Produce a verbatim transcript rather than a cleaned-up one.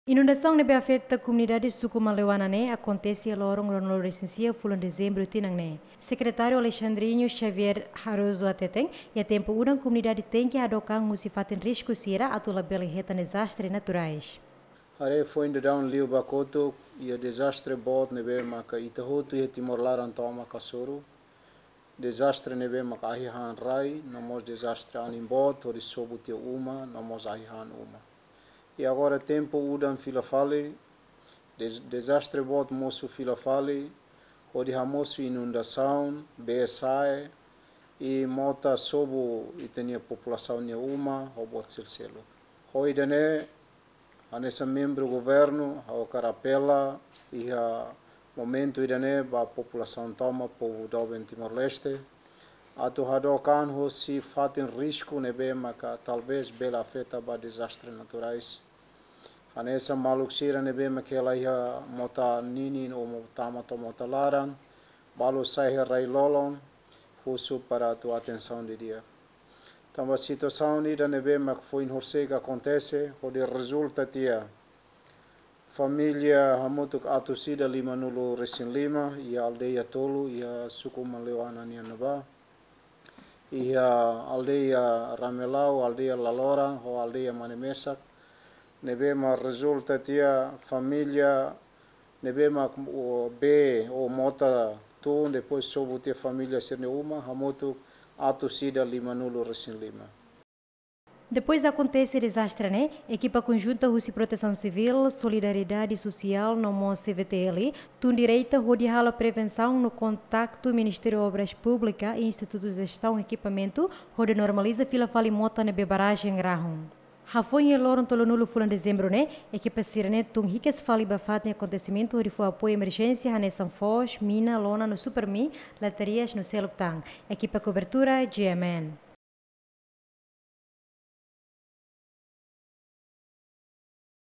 Inundasaun ne'ebé afeta komunidade suku Maleuana ne'e akontese iha loron ruanulu-resin-sia fulan Dezembru tinan ne'e. Sekretáriu Alexandrinho Xavier Haroso hateten, iha tempu udan komunidade tenke hadook an husi fatin risku sira atu labele hetan dezastre naturais. Haree foin daudaun liu ba kotuk, iha dezastre boot ne'ebé maka ita hotu iha Timor laran tomak hasoru. Dezastre ne'ebé maka ahi han rai, no mós dezastre anin boot, hodi sobu tiha uma, no mós ahi han uma. I agora tempu udan fila fali, dez-, dezastre boot mosu fila fali, hodi hamosu inundasaun, bee sa'e, i mota sobu ita-nia populasaun nia uma, ho buat seluk-seluk. Ho ida-ne'e, hanesan membru governu, ha'u hakarak apela, iha momentu ida-ne'e ba populasaun tomak, povu doben Timor-Leste, atu hadook an husi fatin risku ne'ebé maka talvés bele afeta ba dezastre naturais. Hanesan maluk sira ne'ebé maka hela iha mota ninin ou mo-, tama to'o mota laran, balu sa'e iha rai-lolon, husu para atu atensaun didi'ak. Tanba situasaun ida ne'ebé mak foin horisehik akontese, hodi rezulta tiha família hamutuk atus ida limanulu-resin-lima, iha aldeia tolu, iha suku Maleuana nian ne'ebá, iha aldeia Ramelau, aldeia Lalora, ho aldeia Manemesak, ne'ebé mak rezulta tiha família ne'ebé mak, o, bee ou mota tun, depois sobu tiha família sira-nia uma, hamutuk atus ida limanulu-resin-lima. Depois akontese dezastre ne'e, ekipa konjunta husi Protesaun Sivíl, Solidariedade Sosiál, no mós C V T L, tun direta hodi halo prevensaun no kontaktu Ministériu Obras Públikas i institutu jestaun ekipamentu, hodi normaliza fila fali mota ne'ebé barajen rahun. Hafoin iha loron tolunulu fulan Dezembru ne'e, ekipa sira-ne'e tun hikas fali ba fatin akontesimentu hodi fó apoiu emerjénsia hanesan foos, mina, lona no Supermi, latarias no seluk tan. Ekipa kobertura, G M N.